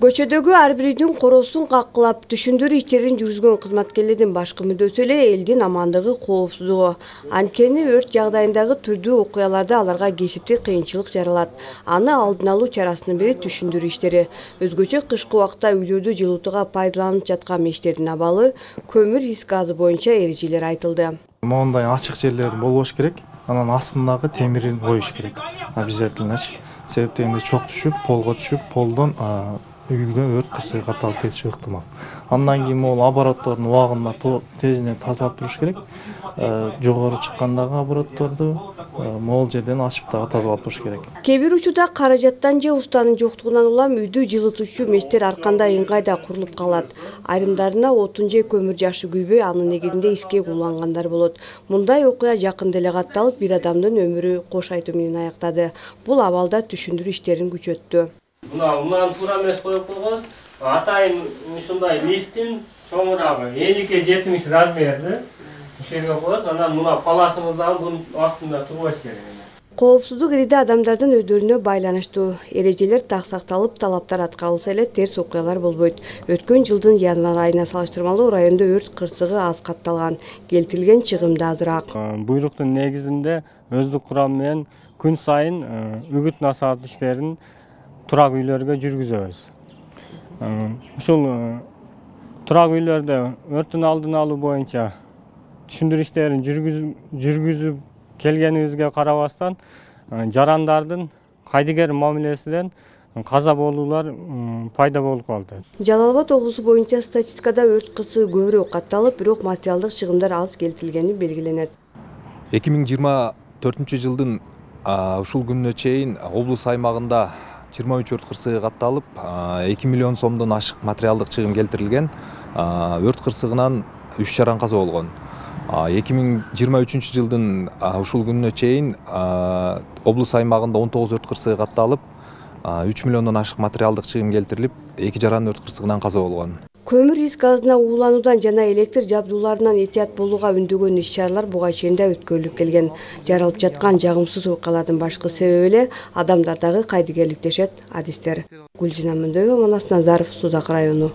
Көчөдөгү ар бир үйдүн коросун каккылап, түшүндүрүү иштерин жүргүзгөн кызматкерлердин башкы мүддөсү эле элдин амандыгы, коопсуздугу. Анткени өрт жагдайындагы түрдүү окуяларда аларга кесиптик кыйынчылык жаралат. Аны алдын алуу чарасынын бири түшүндүрүү иштери. Өзгөчө кышкы убакта үйлөрдү жылытууга пайдаланып жаткан мештердин абалы, көмүр ис газы боюнча эрежелер айтылды. Моундай ачык жерлер болбош керек. Анан астындагы темирин коюш керек. Обязательно. Себеп дегенде чок түшүп, полго түшүп, полдон үйгө өрт кырсыгы катталып кетиши ыктымал. Андан кийин могул обороттордун убагында тезинен тазалап туруш керек. Жогору чыккандагы оборотторду могул жерден ачып дагы тазалап туруш керек. Кээ бир учурда каражаттан же устанын жоктугунан улам үйдү жылытуучу мештер аркандай ыңгайда курулуп калат. Айрымдарына отун же көмүр жакшы күйбөй, анын негизинде эскек улангандар болот. Мындай окуя жакында эле катталып, бир адамдын өмүрү кош айтуу менен аяктады. Бул абалда түшүндүрүү иштерин күчөттү. Мынаны туура эмес коюп койгоз. Атайын ушундай листтин чоңурагы 50-70 размерде ишерге коебуз. Анан мына паласыбыз дагы бунун астында турбаш керек. Коопсуздук ириде адамдардын өздөрүнө байланыштуу. Эрежелер так сакталып, талаптар аткарылса эле терс окуялар болбойт. Өткөн жылдын январь айына салыштырмалуу райондо өрт кырсыгы аз катталган, келтирилген чыгым да азыраак. Буйруктун негизинде өздүк курам менен күн сайын үгүт насаат иштерин турак үйлөргө жүргүзөбүз. Ушул турак үйлөрдө өрттүн алдын алуу боюнча түшүндүрүү иштерин жүргүзүп келгенибизге карабастан, жарандардын кайдыгер мамилесинен каза болуулар пайда болуп калды. Жалал Абад облусу боюнча статистикада өрт кырсыгы көбүрөөк катталып, бирок материалдык чыгымдар аз келтирилгени белгиленет. 2024 жылдын ушул күнүнө чейин облус аймагында 23 өрт кырсыгы катталып, 2 миллион сомдон ашык материалдык чыгым келтирилген. Өрт кырсыгынан 3 жаран каза болгон. 2023 жылдын ушул күнүнө чейин облус аймагында 19 өрт кырсыгы катталып, 3 миллиондон ашык материалдык чыгым келтирилип, 2 жаран өрт кырсыгынан каза болгон. Көмүр ис газына уулануудан жана электр жабдууларынан этият болууга үндөгөн иш-чаралар буга чейин да өткөрүлүп келген. Жаралып жаткан жагымсыз окуялардын башкы себеби эле адамдардагы кайдыгерлик дешет адистер. Гүлжина Мөндөбү, Манас Назаров, Сузак району.